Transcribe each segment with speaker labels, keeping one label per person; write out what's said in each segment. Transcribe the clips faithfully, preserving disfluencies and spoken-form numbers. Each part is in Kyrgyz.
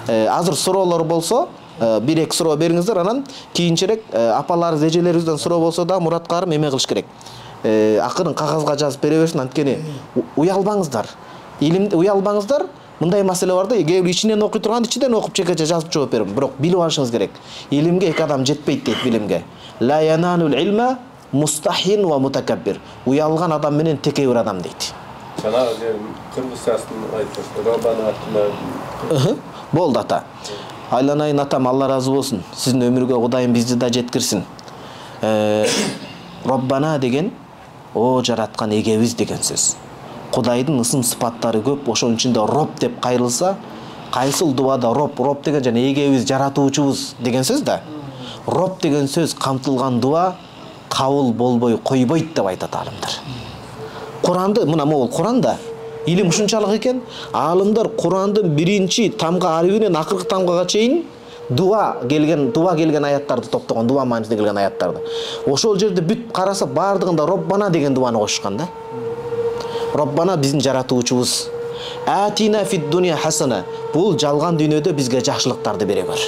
Speaker 1: Азыр суроолор болсо, бир эки суроо бериңиздер, анан кийинчерээк апаларыбыз, эжелерибизден суроо болсо да Мураткарым эме кылыш керек. Акырын кагазга жазып бере берсин, анткени уялбаңыздар. Илимди уялбаңыздар. Мындай маселе бар да, кээ бир ичинен окуй турган ичинен окуп чекече жазып жооп берем. Бирок билип алышыңыз керек. Илимге эки адам жетпейт дейт билимге. Ла яналул илма мустахин ва мутакаббир. Уялган адам менен текебир адам дейт.
Speaker 2: Жана кыргызчасын айтып, Роббана атына.
Speaker 1: Болду ата. Айланайын атам, Алла разы болсун. Сиздин өмүргө Кудайым бизди да жеткирсин. Роббана деген о жараткан эгебиз деген сөз. Кудайдын ысым сыпаттары көп, ошонун ичинде Роб деп кайрылса, кайсыл дуада Роб, Роб деген жана эгебиз, жаратуучубуз деген сөз да. Роб деген сөз камтылган дуа кабыл болбой койбойт деп айтат алымдар. Куранды, мына могул Куранда илим ушунчалык экен, алымдар Курандын биринчи тамга арифинен акыркы тамгага чейин дуа келген, дуа келген аяттарды топтогон, дуа маанисинде келген аяттарды. Ошол жерде бүт караса бардыгында Роббана деген дуаны кошушкан да. Роббана биздин жаратуучубуз. Атина фид дуния хасана. Бул жалган дүйнөдө бизге жакшылыктарды бере бер.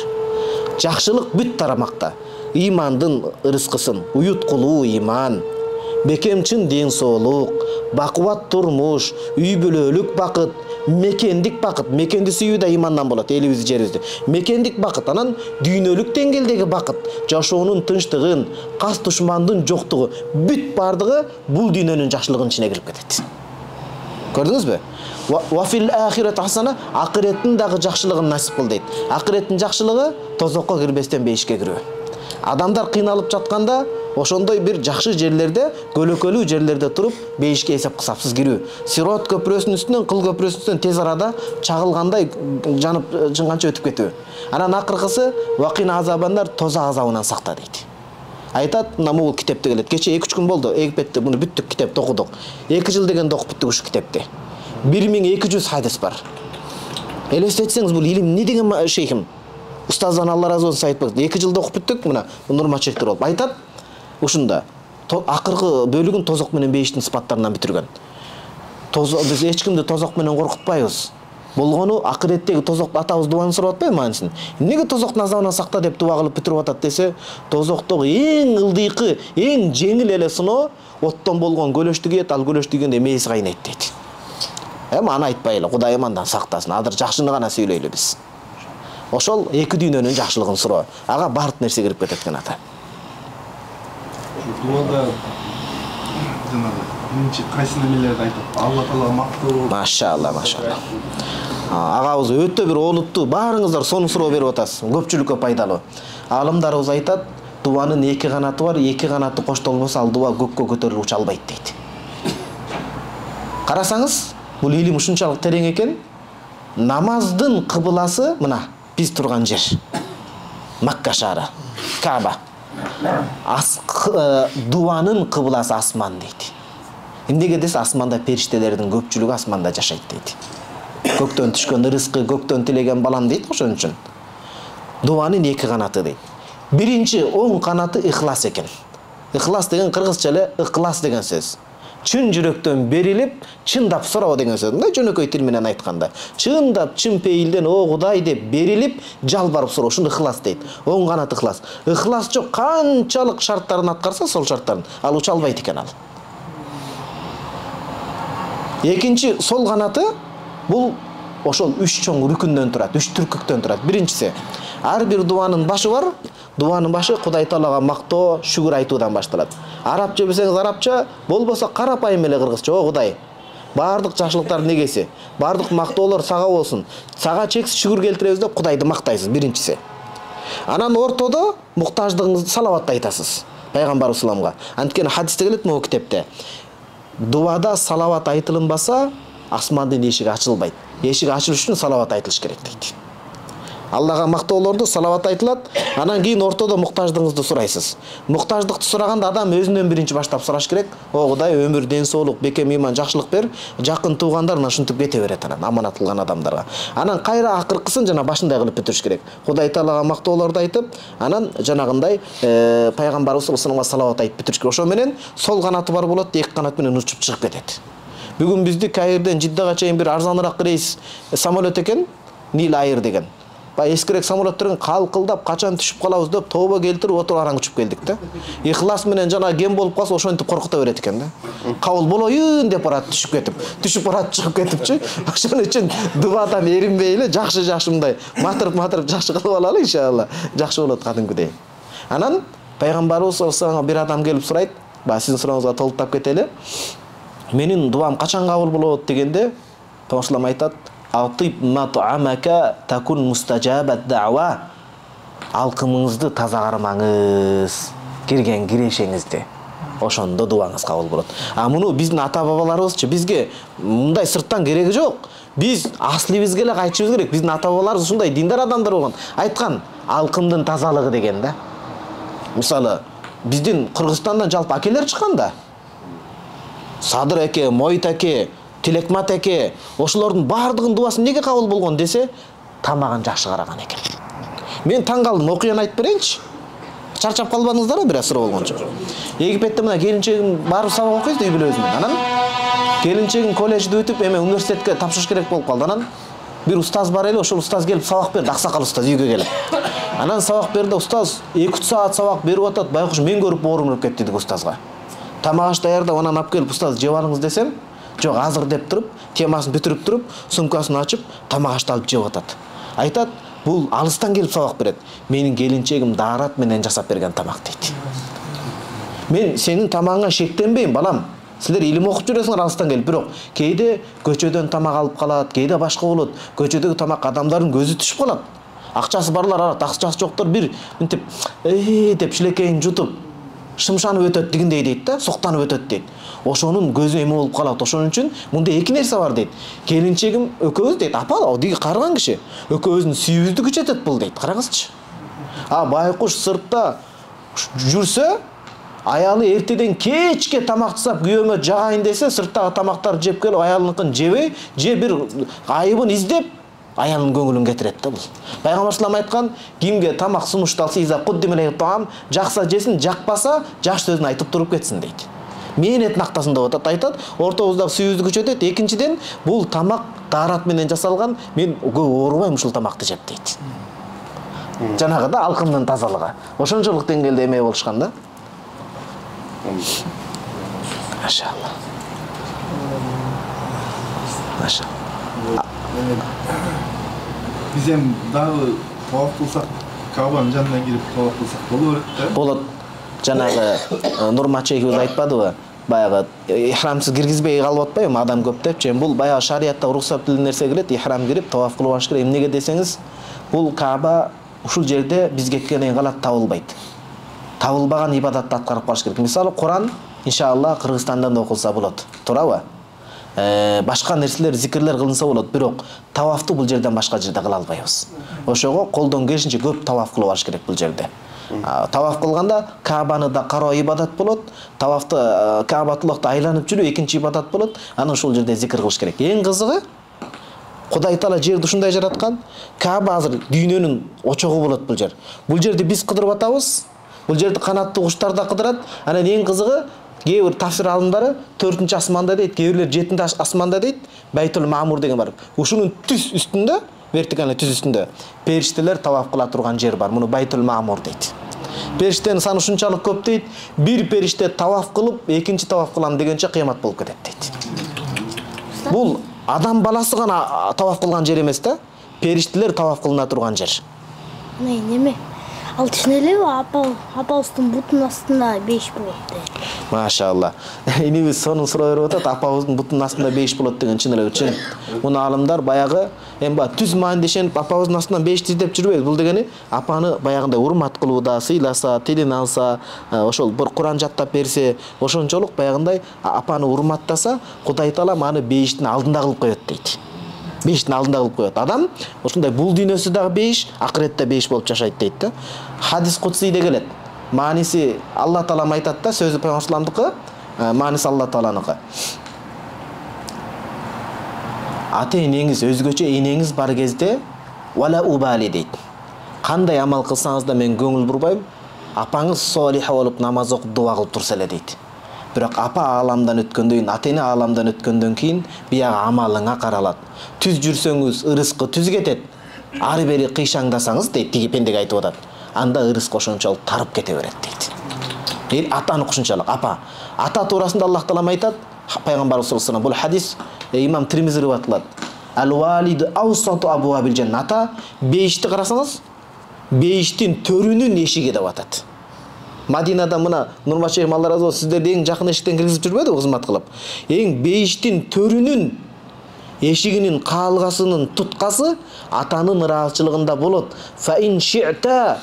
Speaker 1: Жакшылык бүт тарамакта. Имандын ырыскысын, уюткулуу иман, бекемчин ден соолук, бакубат турмуш, үй бүлөлүк бакыт, мекендик бакыт. Мекенди сүйүү да имандан болот, элибизди, жерибизди. Мекендик бакыт, анан дүйнөлүк деңгээлдеги бакыт, жашоонун тынчтыгын, кас душмандын жоктугу, бүт бардыгы бул дүйнөнүн жакшылыгынын ичине кирип кетет. Көрдүңүзбү? Ва фил ахират хасана, акыреттин дагы жакшылыгын насип кыл дейт. Акыреттин жакшылыгы тозокко кирбестен бейишке кирүү. Адамдар кыйналып жатканда, ошондой бир жакшы жерлерде, көлөкөлүү жерлерде туруп, бейишке эсеп кысапсыз кирүү. Сирот көпүрөсүнүн үстүнөн, кыл көпүрөсүнүн үстүнөн тез арада чагылгандай жанып жынганча өтүп кетүү. Анан акыркысы вакин азабандар, тозак азабынан сакта дейт. Айтат, мына бул китепте келет. Кече эки үч күн болду, Египетте муну бүттүк китепти окудук. эки жыл дегенде окуп бүттүк ушу китепти. бир миң эки жүз хадис бар. Элестетсеңиз, бул илим не деген шейхим? Устаздан Алла разы болсун айтпак. эки жылда окуп бүттүк, мына Нурмачектер болуп. Айтат, ушунда акыркы бөлүгүн тозок менен бейиштин сыпаттарынан бүтүргөн. Тозок, биз эч кимди тозок менен коркутпайбыз. Болгону акыреттеги тозок атабыз дуаны сурап атпайбы маанисин? Эмнеге тозоктун азабынан сакта деп дуа кылып бүтүрүп атат десе, тозоктогу эң ылдыйкы, эң жеңил эле сыноо оттон болгон көлөштү кийет, ал көлөш тийгенде мээси кайнайт дейт. Эми аны айтпайлы, Кудайым андан сактасын. Азыр жакшыны гана сүйлөйлү биз. Ошол эки дүйнөнүн жакшылыгын суроо. Ага бардык нерсе кирип кетет экен ата.
Speaker 3: Дуада жанагы биринчи кайсы немелерди айтат? Алла таала мактоо.
Speaker 1: Машалла, машалла. Агабыз өтө бир олуттуу, баарыңыздар сону суроо берип атасыз. Көпчүлүккө пайдалуу. Алымдарыбыз айтат, дуанын эки канаты бар, эки канаты коштолбосо ал дуа көккө көтөрүлүп уча албайт дейт. Карасаңыз, бул илим ушунчалык терең экен. Намаздын кыбыласы мына биз турган жер. Макка шаары, Кааба. Ас дуанын кыбыласы асман дейт. Эмнеге десе, асманда периштелердин көпчүлүгү асманда жашайт дейт. Көктөн түшкөн ырыскы, көктөн тилеген балам дейт ошон үчүн. Дуанын эки канаты дейт. Биринчи оң канаты ихлас экен. Ихлас деген кыргызча эле ыклас деген сөз. Чын жүрөктөн берилип, чындап суроо деген сөз. Мындай жөнөкөй тил менен айтканда, чындап, чын пейилден о Кудай деп берилип, жалбарып суроо, ушуну ихлас дейт. Оң канат ихлас. Ихлас жок, канчалык шарттарын аткарса, сол шарттарын ал уча албайт экен ал. Экинчи сол канаты бул ошол үч чоң рүкүндөн турат, үч түркүктөн турат. Биринчиси, ар бир дуанын башы бар. Дуанын башы Кудай Таалага мактоо, шүгүр айтуудан башталат. Арабча билсеңиз арабча, болбосо карапайым эле кыргызча, о Кудай, бардык жакшылыктардын эгеси, бардык мактоолор сага болсун. Сага чексиз шүгүр келтиребиз деп Кудайды мактайсыз, биринчиси. Анан ортодо муктаждыгыңызды салават айтасыз пайгамбар салламга. Анткени хадисте келет могу китепте. Дуада салават айтылынбаса, асмандын эшиги ачылбайт. Эшиги ачылыш үчүн салават айтылыш керек дейт. Аллага мактоолорду салават айтылат, анан кийин ортодо муктаждыгыңызды сурайсыз. Муктаждыкты сураганда адам өзүнөн биринчи баштап сураш керек. О Кудай, өмүр, ден соолук, бекем иман, жакшылык бер, жакын туугандарына ушинтип кете берет анан аманат кылган адамдарга. Анан кайра акыркысын жана башындай кылып бүтүрүш керек. Кудай Таалага мактоолорду айтып, анан жанагындай пайгамбарыбыз саллаллаху алейхи вассаламга салават айтып бүтүрүш керек. Ошо менен сол канаты бар болот, эки канат менен учуп чыгып кетет. Бүгүн бизди Каирден Жиддага чейин бир арзаныраак рейс самолет экен, Нил Айр деген. Баягы эскирээк самолеттерден калкылдап качан түшүп калабыз деп тобо келтирип отуруп араң учуп келдик да. Ихлас менен жана кем болуп калса ошентип коркута берет экен да. Кабыл болоюн деп барат түшүп кетип, түшүп барат чыгып кетипчи. Ошон үчүн дубадан эринбей эле жакшы-жакшы мындай матырып-матырып жакшы кылып алалы иншалла. Жакшы болот кадимкидей. Анан пайгамбарыбыз саллаллаху бир адам келип сурайт, баягы сиздин сурооңузга толуктап кетели. Менин дубам качан кабыл болот дегенде, Пайгамбар айтат: "Атип мат'амака такун мустажабат дa'ва." Алкымыңызды таза кармаңыз, кирген кирешеңизди. Ошондо дубаңыз кабыл болот. А муну биздин ата-бабаларыбызчы бизге мындай сырттан кереги жок. Биз аслыбызга эле кайтышыбыз керек. Биздин ата-бабаларыбыз ушундай диндар адамдар болгон. Айткан алкымдын тазалыгы деген да. Мисалы, биздин Кыргызстандан жалпы акелер чыккан да. Садыр эке, Мойт эке, Тилекмат эке, ошолордун баардыгынын дубасы неге кабыл болгон десе, тамагын жакшы караган экен. Мен таң калдым, окуяны айтып берейинчи. Чарчап калбадыңыздарбы бир асыр болгончо. Египетте мына келинчегим барып сабак окуйт үй бүлөбүз менен. Анан келинчегим колледжди өтүп, эме университетке тапшырыш керек болуп калды. Анан бир устаз бар эле, ошол устаз келип сабак берди, аксакал устаз үйгө келип. Анан сабак берди, устаз эки үч саат сабак берип атат, байкуш мен көрүп оорумуп кетти деди устазга. Тамак аш даярдап анан алып келип устаз жеп алыңыз десем, жок азыр деп туруп, темасын бүтүрүп туруп, сумкасын ачып, тамак ашты алып жеп атат. Айтат, бул алыстан келип сабак берет. Менин келинчегим даарат менен жасап берген тамак дейт. Мен сенин тамагыңа шектенбейм, балам. Силер илим окуп жүрөсүңөр алыстан келип, бирок кээде көчөдөн тамак алып калат, кээде башка болот. Көчөдөгү тамак адамдардын көзү түшүп калат. Акчасы барлар алат, акчасы жоктор бир мынтип эй деп шилекейин жутуп шымшанып өтөт дегендей дейт да, соктанып өтөт дейт. Ошонун көзү эме болуп калат. Ошон үчүн мындай эки нерсе бар дейт. Келинчегим экөөбүз дейт, апа, диги карыган киши. Экөөбүздүн сүйүүбүздү күчөтөт бул дейт. Караңызчы. А байкуш сыртта жүрсө, аялы эртеден кечке тамак жасап күйөөмө жагайын десе, сырттагы тамактарды жеп келип аялыныкын жебей, же бир айыбын издеп, аялынын көңүлүн кетирет да бул. Пайгамбар салам айткан, кимге тамак сунушталса, иза куддимеле таам, жакса жесин, жакпаса, жакшы сөзүн айтып туруп кетсин дейт. Мээнеттин актасын деп атат, айтат, ортобуздагы сүйүүбүздү күчөтөт. Экинчиден, бул тамак даарат менен жасалган, мен көп оорубайм ушул тамакты жеп дейт. Жанагы да алкымдын тазалыгы. Ошончолук деңгээлде эме болушкан да. Машалла. Машалла.
Speaker 3: Биз эми дагы таваф кылсак, Кабанын жанына кирип таваф кылсак боло берет да?
Speaker 1: Болот. Жанагы Нурмачекибиз айтпадыбы? Баягы ихрамсыз киргизбей калып атпайбы, адам көп деп. Же бул баягы шариятта уруксат этилген нерсе келет, ихрам кирип таваф кылып алыш керек. Эмнеге десеңиз, бул Каба ушул жерде биз кеткенден калат табылбайт. Табылбаган ибадатты аткарып калыш керек. Мисалы, Куран иншалла Кыргызстандан да окулса болот. Туурабы? Э, башка нерселер, зикирлер кылынса болот, бирок тавафты бул жерден башка жерде кыла албайбыз. Ошого колдон келишинче көп таваф кылып алыш керек бул жерде. Таваф кылганда Кабаны да кароо ибадат болот, тавафты Кабатуллахты айланып жүрүү экинчи ибадат болот. Анан ушул жерде зикир кылыш керек. Эң кызыгы, Кудай Таала жерди ушундай жараткан, Каба азыр дүйнөнүн очогу болот бул жер. Бул жерди биз кыдырып атабыз. Бул жерди канаттуу куштар да кыдырат. Анан эң кызыгы, кээ бир тафсир алымдары төртүнчү асманда дейт, кээ бирлер жетинчи асманда дейт, Байтул Маамур деген бар. Ушунун түз үстүндө, вертикалный түз үстүндө периштелер таваф кыла турган жер бар. Муну Байтул Маамур дейт. Периштенин саны ушунчалык көп дейт, бир периште таваф кылып, экинчи таваф кылам дегенче кыямат болуп кетет дейт. Бул адам баласы гана таваф кылган жер эмес да, периштелер таваф кылына турган жер.
Speaker 4: Не, неме? Ал түшүнөлүбү, апа, апабыздын бутунун астында беш болот дейт.
Speaker 1: Машалла. Инибиз сонун суроо берип атат, апабыздын бутунун астында беш болот деген чын эле чын. Муну алымдар баягы эми ба түз маанидешенип апабыздын астынан бешти издеп жүрбөйбүз. Бул дегени апаны баягындай урмат кылууда, сыйласа, тилин алса, ошол бир Куран жаттап берсе, ошончолук баягындай апаны урматтаса, Кудай Таала аны бештин алдында кылып коет дейт. Бештин алдында кылып коет. Адам ошондой бул дүйнөсү дагы беш, акыретте беш болуп жашайт дейт да. Хадис кутсийде келет. Мааниси Алла Таала айтат да, сөзү Пайгамбарымдыкы, мааниси Алла Тааланыкы. Ата энеңиз, өзгөчө энеңиз бар кезде вала убали дейт. Кандай амал кылсаңыз да мен көңүл бурбайм. Апаңыз солих болуп намаз окуп дуа кылып турса эле дейт. Бирок апа ааламдан өткөндөн кийин, ата эне ааламдан өткөндөн кийин биягы амалыңа каралат. Түз жүрсөңүз ырыскы түз кетет. Ары бери кыйшаңдасаңыз дейт, тиги пендеге айтып атат. Анда ырыск ошончолук тарып кете берет дейт. Эл атаны кушунчалык апа. Ата туурасында Аллах таалам айтат, пайгамбарыбыз саллаллаху алейхи вассалам, бул хадис имам Тирмизи риваyatlат. Ал-валиду аусату абуабил жанна. Ата бейишти карасаңыз, бейиштин төрүнүн эшиги деп атат. Мадинада мына Нурмашев Алла разы болсун, сиздерди эң жакын эшиктен киргизип жүрбөдү кызмат кылып. Эң бейиштин төрүнүн эшигинин каалгасынын туткасы атанын ыраазычылыгында болот. Фа ин ши'та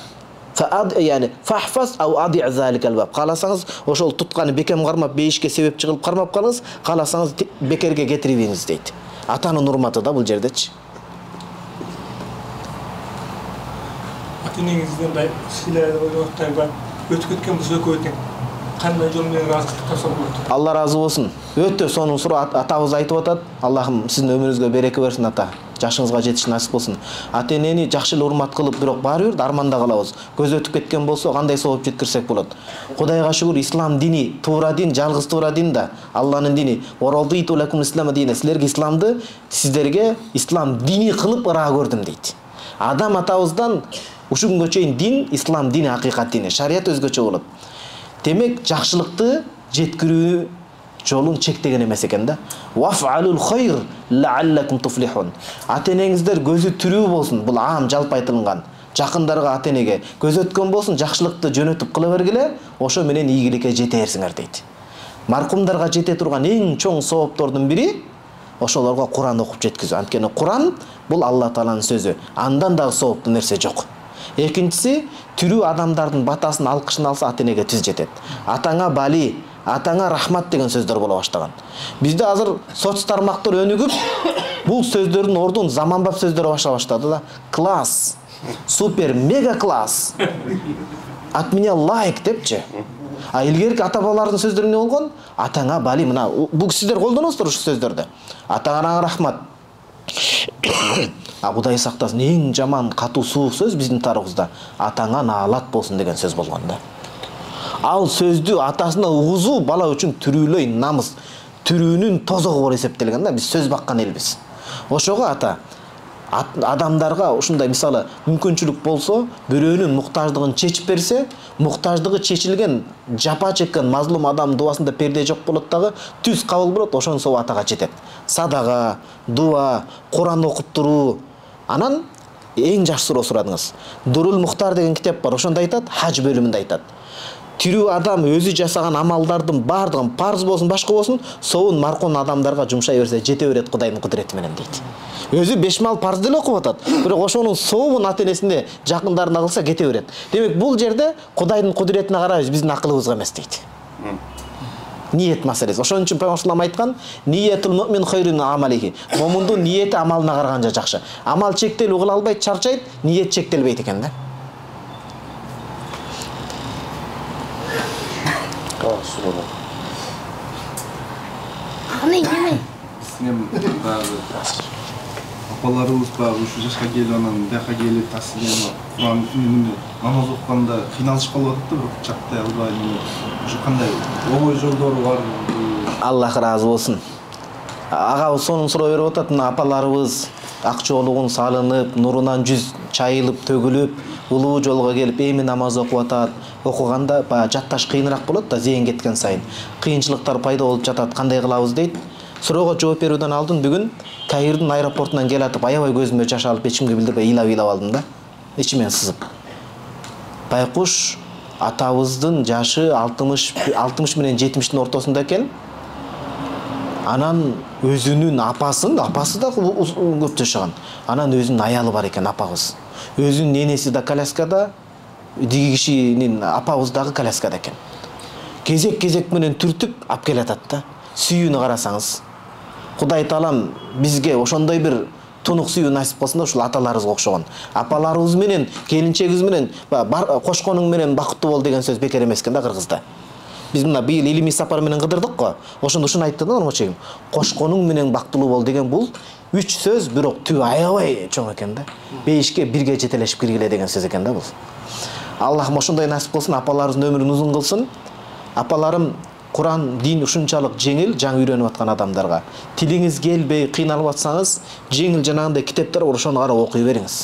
Speaker 1: фаад яни фахфас ау ади заликал баб. Кааласаңыз ошол тутканы бекем кармап бейишке себепчи кылып кармап калыңыз, кааласаңыз бекерге кетирип ийиңиз дейт. Атанын урматы да бул жердечи.
Speaker 5: Ата-энеңизден да силерди ойлоттойгон өтүп кеткен болсо экөөтүң кандай жол менен ыраазычылык тапса болот?
Speaker 1: Алла разы болсун. Өтө сонун суроо атабыз айтып атат. Аллахым сиздин өмүрүңүзгө береке берсин ата. Жашыңызга жетиш насип болсун. Ата энени жакшы эле урмат кылып, бирок баары бир арманда калабыз. Көз өтүп кеткен болсо кандай сооп жеткирсек болот. Кудайга шүгүр, ислам дини туура дин, жалгыз туура дин да, Алланын дини. Варалдиту лакум ислама дина. Силерге исламды, сиздерге ислам дини кылып ыраа көрдүм дейт. Адам атабыздан ушул күнгө чейин дин, ислам дини, акыйкат дини, шарият өзгөчө болот. Демек жакшылыкты жеткирүү жолун чектеген эмес экен да. Ваф'алул хайр лааллакум туфлихун. Ата энеңиздер көзү тирүү болсун. Бул аам жалпы айтылган. Жакындарга ата энеге көз өткөн болсун, жакшылыкты жөнөтүп кыла бергиле, ошо менен ийгиликке жетерсиңер дейт. Маркумдарга жете турган эң чоң сооптордун бири ошолорго Куран окуп жеткизүү. Анткени Куран бул Алла Тааланын сөзү. Андан дагы сооптуу нерсе жок. Экинчиси, тирүү адамдардын батасын, алкышын алса ата энеге түз жетет. Атаңа бали, атаңа рахмат деген сөздөр боло баштаган. Бизде азыр соц тармактар өнүгүп, бул сөздөрдүн ордун заманбап сөздөр баша баштады да. Класс, супер, мега класс. От меня лайк депчи. А илгерки ата бабалардын сөздөрү эмне болгон? Атаңа бали, мына бул сиздер колдоносуздар ушул сөздөрдү. Атаңа рахмат. А Кудай сактасын, эң жаман катуу суук сөз биздин тарыхыбызда атаңа наалат болсун деген сөз болгон да. Ал сөздү атасына угузуу бала үчүн түрүүлөй намыс, түрүүнүн тозогу болуп эсептелген да. Биз сөз баккан элбиз. Ошого ата адамдарга ушундай мисалы мүмкүнчүлүк болсо, бирөөнүн муктаждыгын чечип берсе, муктаждыгы чечилген, жапа чеккен мазлум адам дуасында перде жок болот дагы, түз кабыл болот, ошонун сообу атага жетет. Садага, дуа, Куран окуп туруу. Анан эң жакшы суроо сурадыңыз. Дурул Мухтар деген китеп бар, ошондо айтат, хаж бөлүмүндө айтат. Тирүү адам өзү жасаган амалдардын бардыгын, парз болсун, башка болсун, соун маркум адамдарга жумшай берсе, жете берет Кудайдын кудурети менен дейт. Өзү беш мал парз деле окуп атат, бирок ошонун сообун ата энесине, жакындарына кылса кете берет. Демек бул жерде Кудайдын кудуретине карайбыз, биздин акылыбызга эмес дейт. Ниет маселеси. Ошон үчүн Пайгамбар айткан, ниятул муъмин хайрун амалихи. Момундун ниети амалына караганча жакшы. Амал чектелүү кыла албайт, чарчайт, ниет чектелбейт экен да.
Speaker 4: Аны неме?
Speaker 3: Биздин баягы апаларыбыз баягы ушу жашка келип анан бияка келип таасирленип Куран үнүндө намаз окуганда кыйналышып калып атат да, бирок жактай албай, ушу кандай оңой жолдору бар?
Speaker 1: Аллах разы болсун. Агабыз сонун суроо берип атат, мына апаларыбыз ак жоолугун салынып, нурунан жүз чайылып, төгүлүп, улуу жолго келип, эми намаз окуп атат. Окуганда баягы жатташ кыйыныраак болот да, зейин кеткен сайын. Кыйынчылыктар пайда болуп жатат, кандай кылабыз дейт. Суроого жооп берүүдөн алдын бүгүн Каирдин аэропортунан келатып, аябай көзүмө жаш алып, эчимге билдирбей ыйлап-ыйлап алдым да. Ичимен сызып. Байкуш атабыздын жашы алтымыш менен жетимиштин ортосунда экен. Анан өзүнүн апасын, апасы да көп жашаган. Анан өзүнүн аялы бар экен, апабыз. Өзүнүн ненеси да коляскада, диги кишинин апабыз дагы коляскада экен. Кезек-кезек менен түртүп алып келатат да. Сүйүүнү карасаңыз. Кудай Таалам бизге ошондой бир тунук сүйүү насип кылсын да, ушул аталарыбызга окшогон. Апаларыбыз менен, келинчегибиз менен, кошконуң менен бакыттуу бол деген сөз бекер эмес экен да кыргызда. Биз мына быйыл илимий сапар менен кыдырдык го. Ошондо ушуну айтты да Нурмачегим. Кошконуң менен бактылуу бол деген бул үч сөз, бирок түбү аябай чоң экен да. Бейишке бирге жетелешип киргиле деген сөз экен да бул. Аллахым ошондой насип кылсын, апаларыбыздын өмүрүн узун кылсын. Апаларым Куран дин ушунчалык жеңил жаңы үйрөнүп аткан адамдарга. Тилиңиз келбей, кыйналып атсаңыз, жеңил жанагындай китептер бар, ошону карап окуй бериңиз.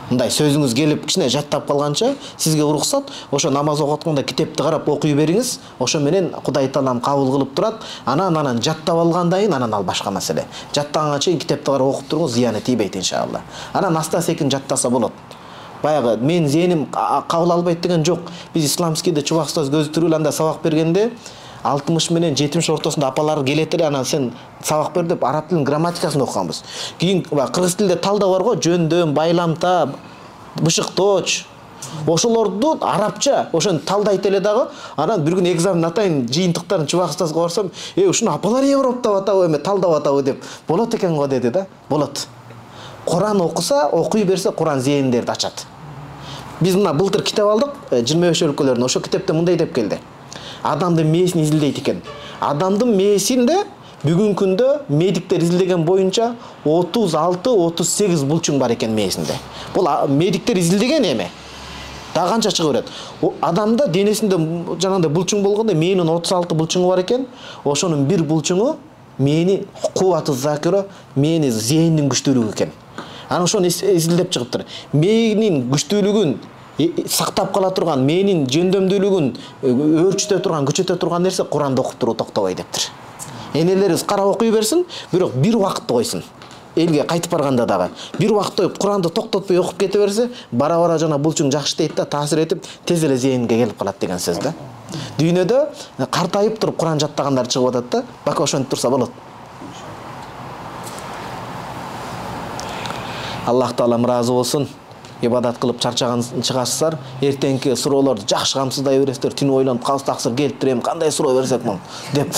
Speaker 1: Мындай сөзүңүз келип кичине жаттап калганча, сизге уруксат, ошо намаз окуп атканда китепти карап окуй бериңиз. Ошо менен Кудай Таалам кабыл кылып турат. Анан анан жаттап алгандан кийин анан ал башка маселе. Жаттаганга чейин китепти карап окуп туруңуз, зыяны тийбейт иншалла. Анан аста-секин жаттаса болот. Баягы мен зээним кабыл албайт деген жок. Биз исламскийде чубаксыз көзү тирүү анда сабак бергенде алтымыш менен жетимиш ортосунда апалар келет эле, анан сен сабак бер деп араб тилинин грамматикасын окуганбыз. Кийин кыргыз тилинде талда бар го, жөндөм, байламта, бышыктооч. Ошолорду арабча ошону талдайт эле дагы. Анан бир күн экзамен атайын жыйынтыктарын чубакстазга барсам, "Э, ушуну апалар Европтап атабы, эме талдап атабы" деп. "Болот экен го" деди да. Болот. Куран окуса, окуй берсе, Куран зээндерди ачат. Биз мына былтыр китеп алдык, жыйырма беш өлкөлөрүнөн. Ошо китепте мындай деп келди. Адамдын мээсин изилдейт экен. Адамдын мээсинде бүгүнкү күндө медиктер изилдеген боюнча отуз алты отуз сегиз булчуң бар экен мээсинде. Бул медиктер изилдеген эме. Дагы канча чыга берет. Адамда денесинде жанагындай булчуң болгондо мээнин отуз алты булчуңу бар экен. Ошонун бир булчуңу мээни кубаты закира, мээни зээндин күчтүүлүгү экен. Анан ошону изилдеп чыгыптыр. Мээнин күчтүүлүгүн сактап кала турган, мээнин жөндөмдүүлүгүн өөрчүтө турган, күчөтө турган нерсе Куранды окуп туруу токтобой дептир. Энелерибиз карап окуй берсин, бирок бир убакытты койсун. Элге кайтып барганда дагы бир убакытты коюп Куранды токтотпой окуп кете берсе, бара-бара жана булчуң жакшы дейт да, таасир этип, тез эле зээнге келип калат деген сөз да. Дүйнөдө картайып туруп Куран жаттагандар чыгып атат да, бака ошентип турса болот. Аллах Таалам ыраазы болсун. Ибадат кылып чарчаган чыгасыздар, эртеңки суроолорду жакшы камсыздай бересиздер. Түнү ойлонуп калса таксыр келиптирем, кандай суроо берсек мун деп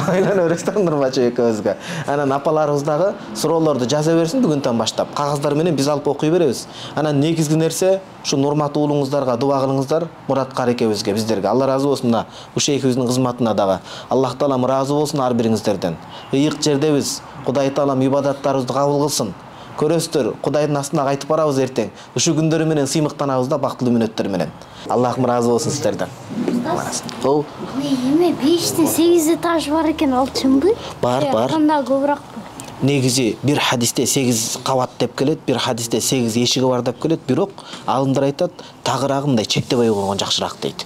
Speaker 1: ойлонуп бересиздер Нурмачы экөөбүзгө. Анан апаларыбыз дагы суроолорду жаза берсин бүгүнтөн баштап. Кагаздар менен биз алып окуй беребиз. Анан негизги нерсе ушу Нурмат уулуңуздарга дуба кылыңыздар, Мурат карекебизге, биздерге. Алла ыраазы болсун мына ушул экөөбүздүн кызматына дагы. Аллах Таалам ыраазы болсун ар бириңиздерден. Ыйык жердебиз. Кудай Таалам ибадаттарыбызды кабыл кылсын. Көрөсүздөр, Кудайдын астына кайтып барабыз эртең. Ушул күндөр менен сыймыктанабыз да бактылуу мүнөттөр менен. Аллахым ыраазы болсун сиздерден. Ол
Speaker 4: Эме бештен сегиз этаж бар экен, ал чынбы?
Speaker 1: Бар, бар.
Speaker 4: Кандай көбүрөөк?
Speaker 1: Негизи бир хадисте сегиз кабат деп келет, бир хадисте сегиз эшиги бар деп келет, бирок алымдар айтат, тагыраагы мындай чектебей койгон жакшыраак дейт.